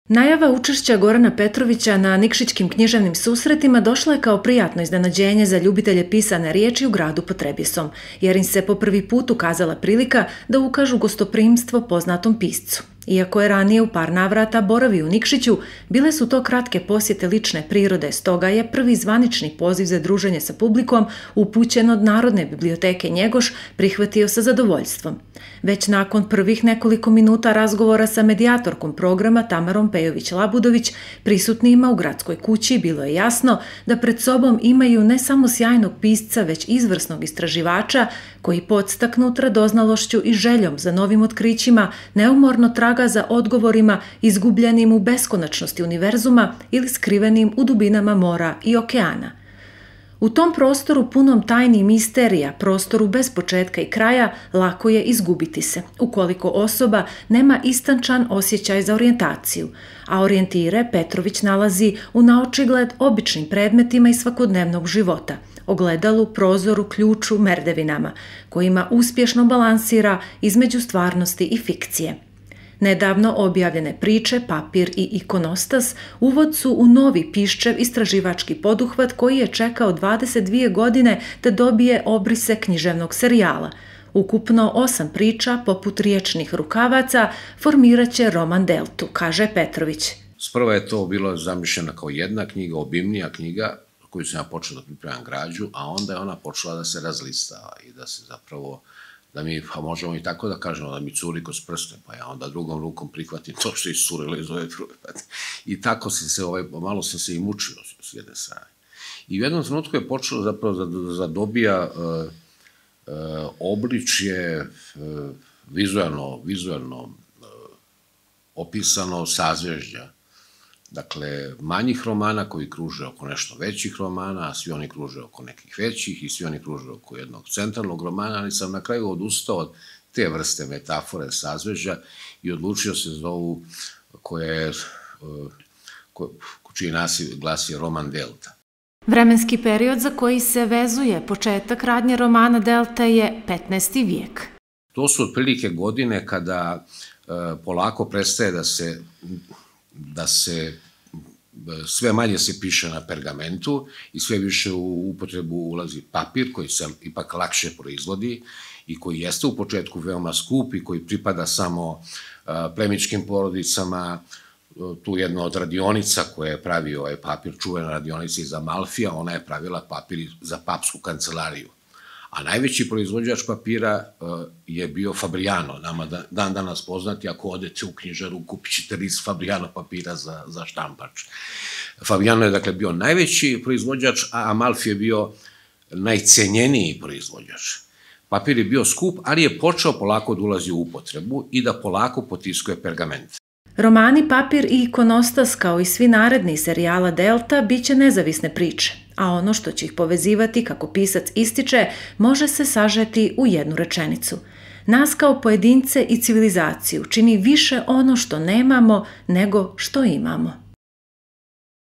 Najava učešća Gorana Petrovića na Nikšićkim književnim susretima došla je kao prijatno iznenađenje za ljubitelje pisane riječi u gradu pod Trebjesom, jer im se po prvi put ukazala prilika da ukažu gostoprimstvo poznatom piscu. Iako je ranije u par navrata boravio u Nikšiću, bile su to kratke posjete lične prirode, stoga je prvi zvanični poziv za druženje sa publikom upućen od Narodne biblioteke Njegoš prihvatio sa zadovoljstvom. Već nakon prvih nekoliko minuta razgovora sa medijatorkom programa Tamarom Pejović-Labudović, prisutnima u gradskoj kući bilo je jasno da pred sobom imaju ne samo sjajnog pisca, već izvrsnog istraživača koji podstaknut radoznalošću i željom za novim otkrićima neumorno traga za odgovorima izgubljenim u beskonačnosti univerzuma ili skrivenim u dubinama mora i okeana. U tom prostoru punom tajni i misterija, prostoru bez početka i kraja, lako je izgubiti se, ukoliko osoba nema istančan osjećaj za orijentaciju, a orijentire Petrović nalazi u naočigled običnim predmetima iz svakodnevnog života, ogledalu, prozoru, ključu, merdevinama, kojima uspješno balansira između stvarnosti i fikcije. Nedavno objavljene priče, Papir i ikonostas uvod su u novi Piščev istraživački poduhvat koji je čekao 22 godine da dobije obrise književnog serijala. Ukupno 8 priča, poput riječnih rukavaca, formirat će roman Deltu, kaže Petrović. Sprva je to bilo zamišljena kao jedna knjiga, obimnija knjiga, koju sam ja počeo da pripremam građu, a onda je ona počela da se razlistava i da se zapravo da mi, pa možemo i tako da kažemo, da mi curi kroz prste, pa ja onda drugom rukom prihvatim to što je iscurilo iz ove druge. I tako malo sam se i mučio s jedne strane. I u jednom trenutku je počelo zapravo da dobija obličje vizualno opisano sazvežđa. Dakle, manjih romana koji kruže oko nešto većih romana, a svi oni kruže oko nekih većih i svi oni kruže oko jednog centralnog romana, ali sam na kraju odustao od te vrste metafore, sazvežđa i odlučio se za ovu čiji naziv glasi roman Delta. Vremenski period za koji se vezuje početak radnje romana Delta je 15. vijek. To su otprilike godine kada polako prestaje da se sve manje se piše na pergamentu i sve više u upotrebu ulazi papir koji se ipak lakše proizvodi i koji jeste u početku veoma skup i koji pripada samo plemićkim porodicama. Tu jedna od radionica koja je pravio ovaj papir, čuvena radionica iz Amalfija, ona je pravila papir za papsku kancelariju. A najveći proizvođač papira je bio Fabriano, nama dan danas poznati, ako odete u knjižaru kupit ćete list Fabriano papira za štampač. Fabriano je dakle bio najveći proizvođač, a Amalfi je bio najcenjeniji proizvođač. Papir je bio skup, ali je počeo polako da ulazi u upotrebu i da polako potiskuje pergament. Romani Papir i ikonostas, kao i svi naredni serijala Delta, bit će nezavisne priče, a ono što će ih povezivati, kako pisac ističe, može se sažeti u jednu rečenicu. Nas kao pojedince i civilizaciju čini više ono što nemamo nego što imamo.